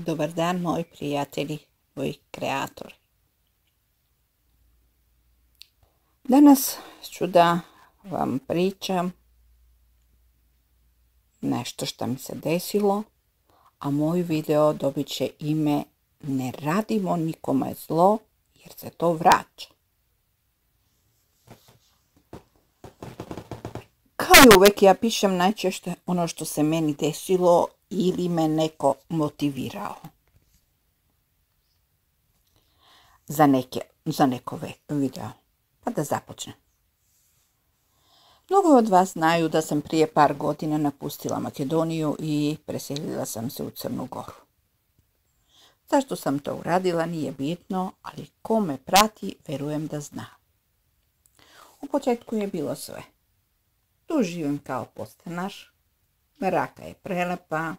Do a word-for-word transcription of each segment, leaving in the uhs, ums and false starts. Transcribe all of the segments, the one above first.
Dobar dan, moji prijatelji, moji kreatori. Danas ću da vam pričam nešto što mi se desilo, a moj video dobit će ime Ne radimo nikome zlo jer se to vraća. Kao i uvek, ja pišem najčešće ono što se meni desilo ili me neko motivirao za, neke, za neko video. Pa da započnem. Mnogo od vas znaju da sam prije par godina napustila Makedoniju i preselila sam se u Crnu Goru. Zašto sam to uradila nije bitno, ali ko me prati, verujem da zna. U početku je bilo sve. Tu živim kao podstanar, baraka je prelepa,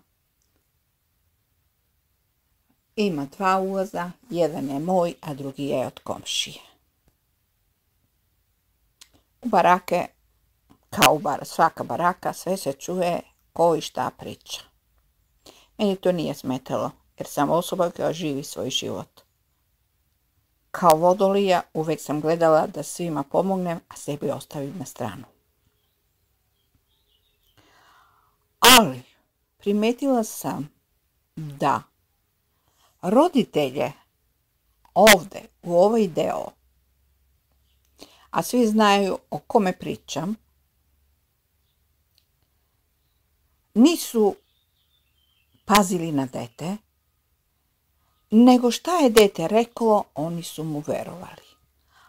ima dva ulaza, jedan je moj, a drugi je od komšije. U barake, kao u bar, svaka baraka, sve se čuje ko i šta priča. Meni to nije smetalo, jer sam osoba koja živi svoj život. Kao vodolija uvijek sam gledala da svima pomognem, a sebi ostavim na stranu. Ali primetila sam da roditelje ovdje u ovaj deo, a svi znaju o kome pričam, nisu pazili na dete, nego šta je dete reklo, oni su mu verovali.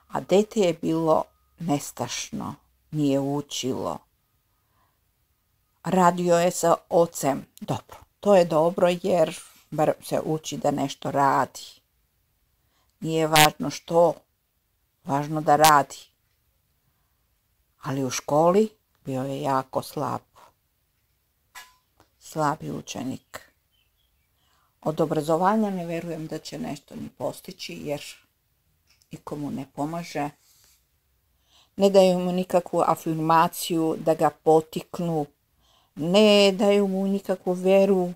A dete je bilo nestašno, nije učilo. Radio je sa ocem. Dobro, to je dobro jer bar se uči da nešto radi. Nije važno što, važno da radi. Ali u školi bio je jako slab. Slabi učenik. Od obrazovanja ne verujem da će nešto ni postići jer nikomu ne pomaže. Ne daju mu nikakvu afirmaciju da ga potiknu. Ne daju mu nikakvu veru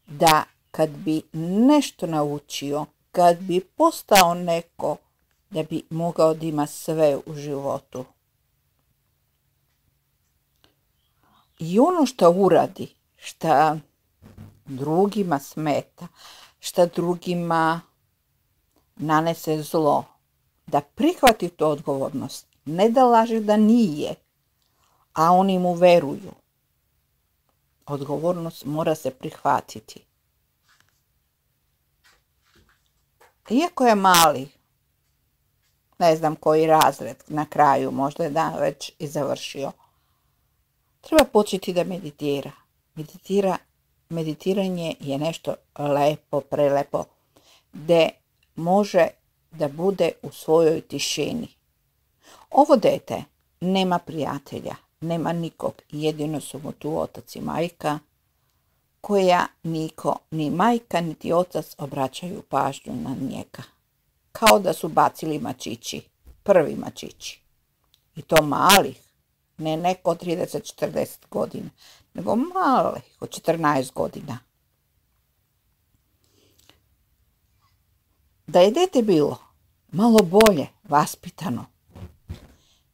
da kad bi nešto naučio, kad bi postao neko, da bi mogao da ima sve u životu. I ono što uradi, što drugima smeta, što drugima nanese zlo, da prihvati tu odgovornost, ne da laže da nije, a oni mu veruju. Odgovornost mora se prihvatiti. Iako je mali, ne znam koji razred na kraju, možda je dan već i završio, treba početi da meditira. Meditira, meditiranje je nešto lepo, prelepo, gde može da bude u svojoj tišini. Ovo dete nema prijatelja, nema nikog, jedino su mu tu otac i majka, koja niko, ni majka, niti otac obraćaju pažnju na njega. Kao da su bacili mačići, prvi mačići. I to malih, ne neko trideset četrdeset godina, nego malih, od četrnaest godina. Da je dete bilo malo bolje vaspitano,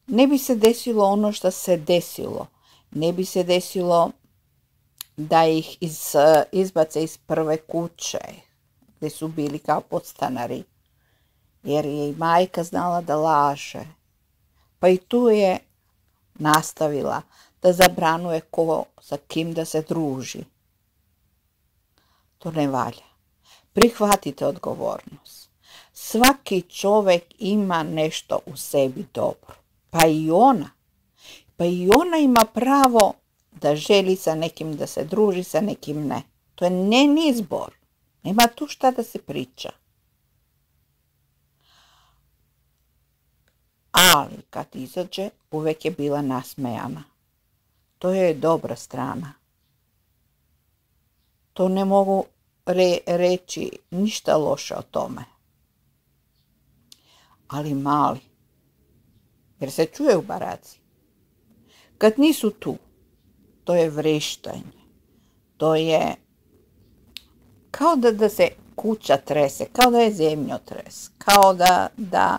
ne bi se desilo ono što se desilo. Ne bi se desilo da ih iz, izbace iz prve kuće, gdje su bili kao podstanari. Jer je i majka znala da laže. Pa i tu je nastavila da zabranuje ko sa kim da se druži. To ne valja. Prihvatite odgovornost. Svaki čovjek ima nešto u sebi dobro. Pa i ona. Pa i ona ima pravo da želi sa nekim da se druži, sa nekim ne. To je njen izbor. Nema tu šta da se priča. Ali kad izađe, uvijek je bila nasmejana. To je dobra strana. To ne mogu re, reći ništa loše o tome. Ali mali, jer se čuje u baraci. Kad nisu tu, to je vreštanje. To je kao da, da se kuća trese, kao da je zemljotres, kao da, da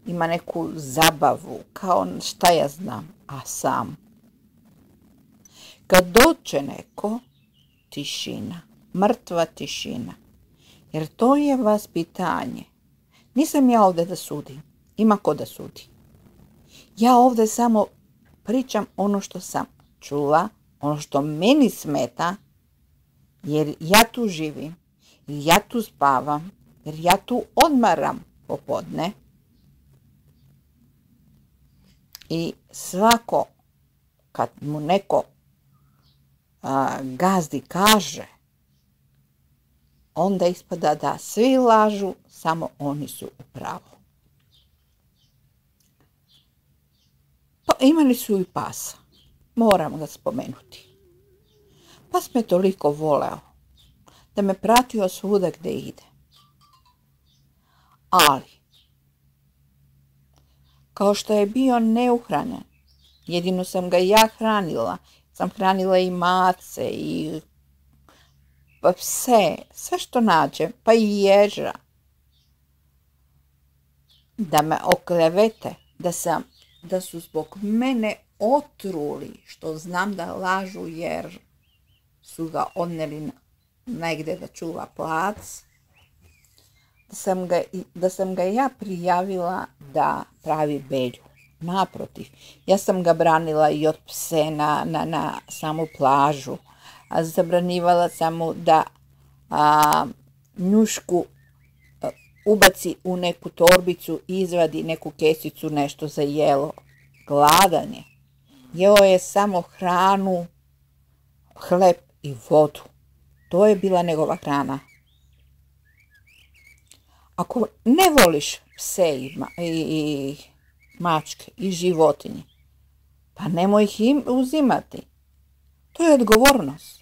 ima neku zabavu, kao šta ja znam, a sam. Kad dođe neko, tišina, mrtva tišina, jer to je vaspitanje. Nisam ja ovdje da sudim, ima ko da sudi. Ja ovdje samo pričam ono što sam čula, ono što meni smeta, jer ja tu živim, jer ja tu spavam, jer ja tu odmaram popodne. I svako, kad mu neko a, gazdi kaže, onda ispada da svi lažu, samo oni su u pravu. Pa imali su i pasa, moram ga spomenuti. Pas me toliko voleo, da me pratio svuda gdje ide. Ali, kao što je bio neuhranjen, jedino sam ga ja hranila, sam hranila i mace i pa pse, sve što nađem, pa i ježa. Da me oklevete, da, sam, da su zbog mene otruli, što znam da lažu jer su ga odneli negdje da čuva plac, da sam ga, da sam ga ja prijavila da pravi belju. Naprotiv, ja sam ga branila i od pse na, na, na samu plažu, a zabranivala sam mu da a, njušku a, ubaci u neku torbicu, izvadi neku kesicu, nešto za jelo. Gladan je. Jeo je samo hranu, hleb i vodu. To je bila njegova hrana. Ako ne voliš pse i, i, i mačke i životinje, pa nemoj ih im uzimati. To je odgovornost.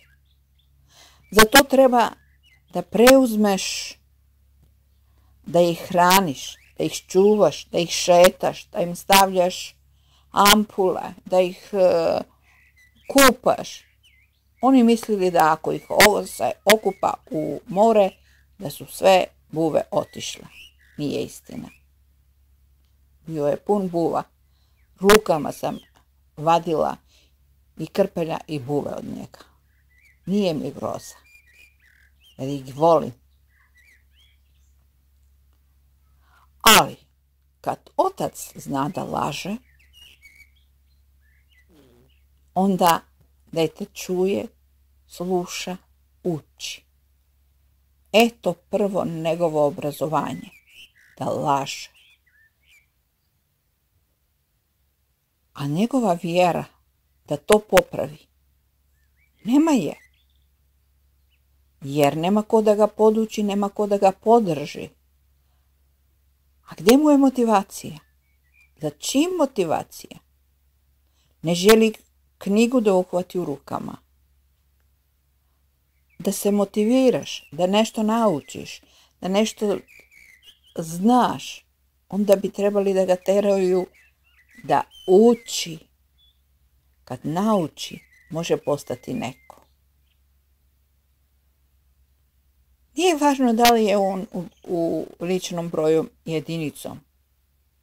Zato treba da preuzmeš, da ih hraniš, da ih čuvaš, da ih šetaš, da im stavljaš ampule, da ih uh, kupaš. Oni mislili da ako ih ovo se okupa u more, da su sve buve otišle. Nije istina. Bio je pun buva. Rukama sam vadila i krpelja i buve od njega. Nije mi groza, jer ih volim. Ali, kad otac zna da laže, onda dete čuje, sluša, uči. Eto prvo njegovo obrazovanje, da laže. A njegova vjera da to popravi, nema je. Jer nema ko da ga poduči, nema ko da ga podrži. A gdje mu je motivacija? Za čim motivacija? Ne želi knjigu da uhvati u rukama. Da se motiviraš, da nešto naučiš, da nešto znaš, onda bi trebali da ga teraju da uči. Kad nauči, može postati neko. Nije važno da li je on u, u ličnom broju jedinicom.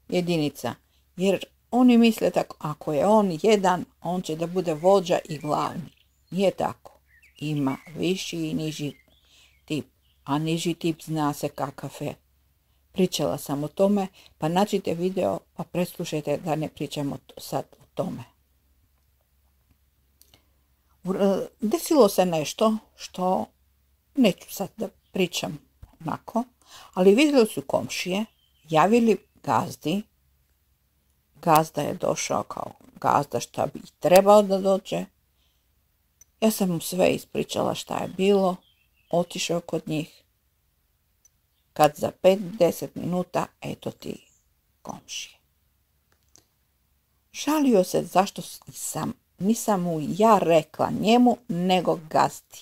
Jedinica. Jer oni misle tako, ako je on jedan, on će da bude vođa i glavni. Nije tako. Ima viši i niži tip. A niži tip zna se kakav je. Pričala sam o tome, pa nađite video, pa preslušajte da ne pričamo sad o tome. Desilo se nešto što neću sad da pričam onako, ali vidjeli su komšije, javili gazdi. Gazda je došao kao gazda šta bi trebao da dođe. Ja sam mu sve ispričala šta je bilo, otišao kod njih. Kad za pet do deset minuta, eto ti komšije. Žalio se zašto sam, nisam mu ja rekla njemu, nego gazdi.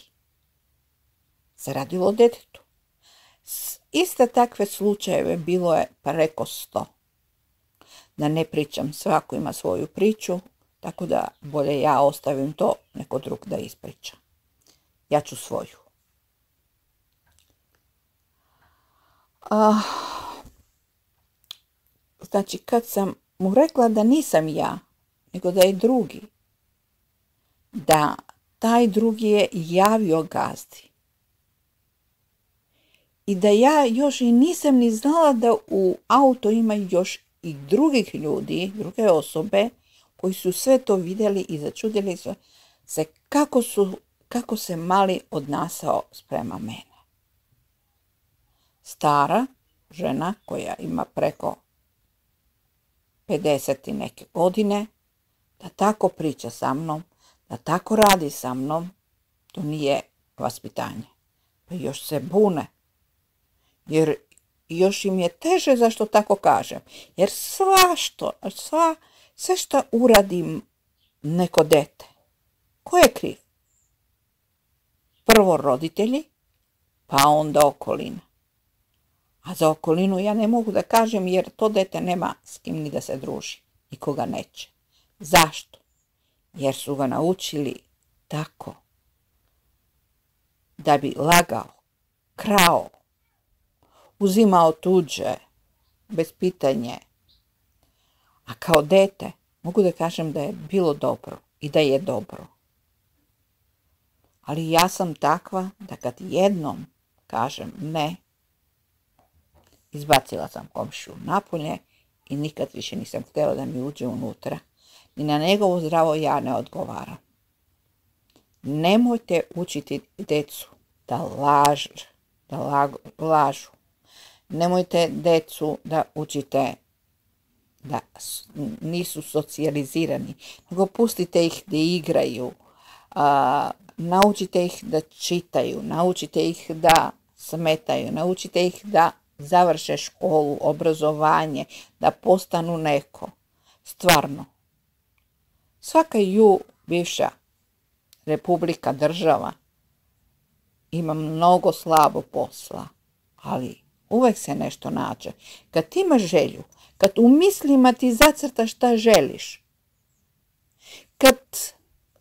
Se radilo o detetu. Iste takve slučajeve bilo je preko sto. Da ne pričam, svako ima svoju priču, tako da bolje ja ostavim to, neko drug da ispriča. Ja ću svoju. Uh, znači, kad sam mu rekla da nisam ja, nego da je drugi, da taj drugi je javio gazdi. I da ja još i nisam ni znala da u auto ima još i drugih ljudi, druge osobe, koji su sve to vidjeli i začudili su se kako, su, kako se mali odnasao sprema mene. Stara žena koja ima preko pedeset i neke godine, da tako priča sa mnom, da tako radi sa mnom, to nije vaspitanje. Pa još se bune. Jer još im je teže zašto tako kažem. Jer sva što, sva, sve što uradim neko dete, ko je kriv? Prvo roditelji, pa onda okolina. A za okolinu ja ne mogu da kažem jer to dete nema s kim ni da se druži. Nikoga neće. Zašto? Jer su ga naučili tako da bi lagao, krao, uzimao tuđe, bez pitanje. A kao dete mogu da kažem da je bilo dobro i da je dobro. Ali ja sam takva da kad jednom kažem ne, izbacila sam komšiju napolje i nikad više nisam htjela da mi uđe unutra. Ni na njegovo zdravo ja ne odgovaram. Nemojte učiti djecu da, laž, da lag, lažu. Nemojte djecu da učite da nisu socijalizirani, nego pustite ih da igraju, a, naučite ih da čitaju, naučite ih da smetaju, naučite ih da završe školu, obrazovanje, da postanu neko. Stvarno. Svaka ju bivša republika, država ima mnogo slabo posla, ali uvek se nešto nađe. Kad ti imaš želju, kad u mislima ti zacrtaš šta želiš, kad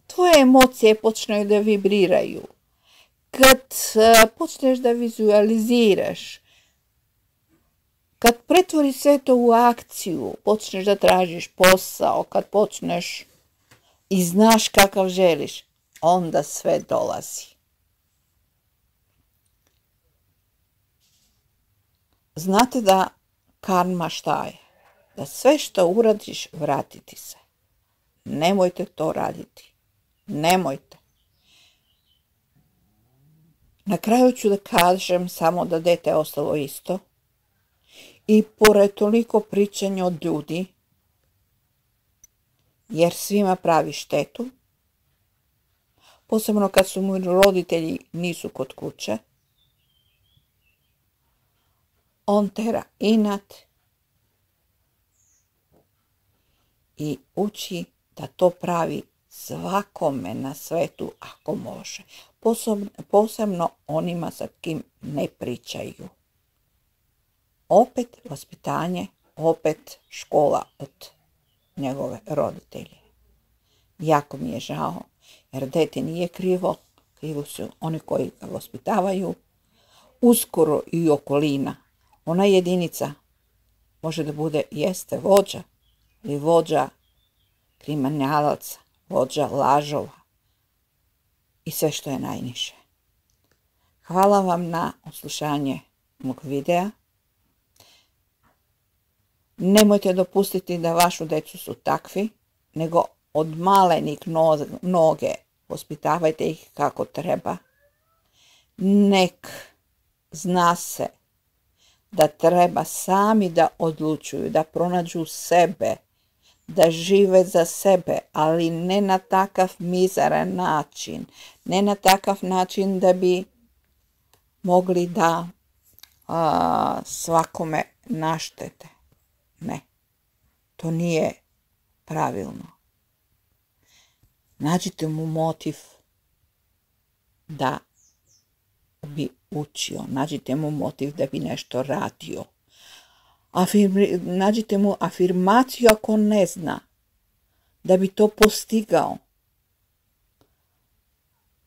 tvoje emocije počneju da vibriraju, kad počneš da vizualiziraš, kad pretvoriš sve to u akciju, počneš da tražiš posao, kad počneš i znaš kakav želiš, onda sve dolazi. Znate da karma šta je? Da sve što uradiš vratiti se. Nemojte to raditi. Nemojte. Na kraju ću da kažem samo da dete je ostalo isto. I pored toliko pričanja od ljudi, jer svima pravi štetu, posebno kad su mu roditelji nisu kod kuće, on tera inat i uči da to pravi svakome na svetu ako može, posebno onima sa kim ne pričaju. Opet vaspitanje, opet škola od njegove roditelje. Jako mi je žao, jer dete nije krivo, krivo su oni koji ga vaspitavaju, uskoro i okolina. Ona jedinica može da bude, jeste vođa, ili vođa kriminalaca, vođa lažova i sve što je najniže. Hvala vam na oslušanje mog videa. Nemojte dopustiti da vašu decu su takvi, nego od malenih noge vaspitavajte ih kako treba. Nek zna se da treba sami da odlučuju, da pronađu sebe, da žive za sebe, ali ne na takav mizeran način, ne na takav način da bi mogli da a, svakome naštete. Ne, to nije pravilno. Nađite mu motiv da bi učio, nađite mu motiv da bi nešto radio. Afirmi, nađite mu afirmaciju ako ne zna, da bi to postigao.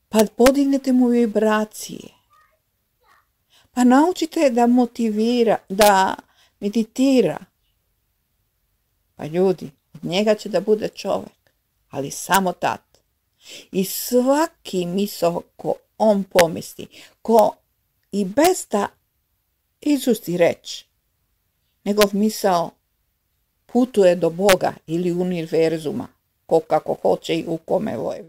Pa podignete mu vibracije. Pa naučite da motivira, da meditira. Pa ljudi, od njega će da bude čovjek, ali samo tad. I svaki misao ko on pomisli, ko i bez da izusti reč, njegov misao putuje do Boga ili univerzuma, ko kako hoće i u kome voje.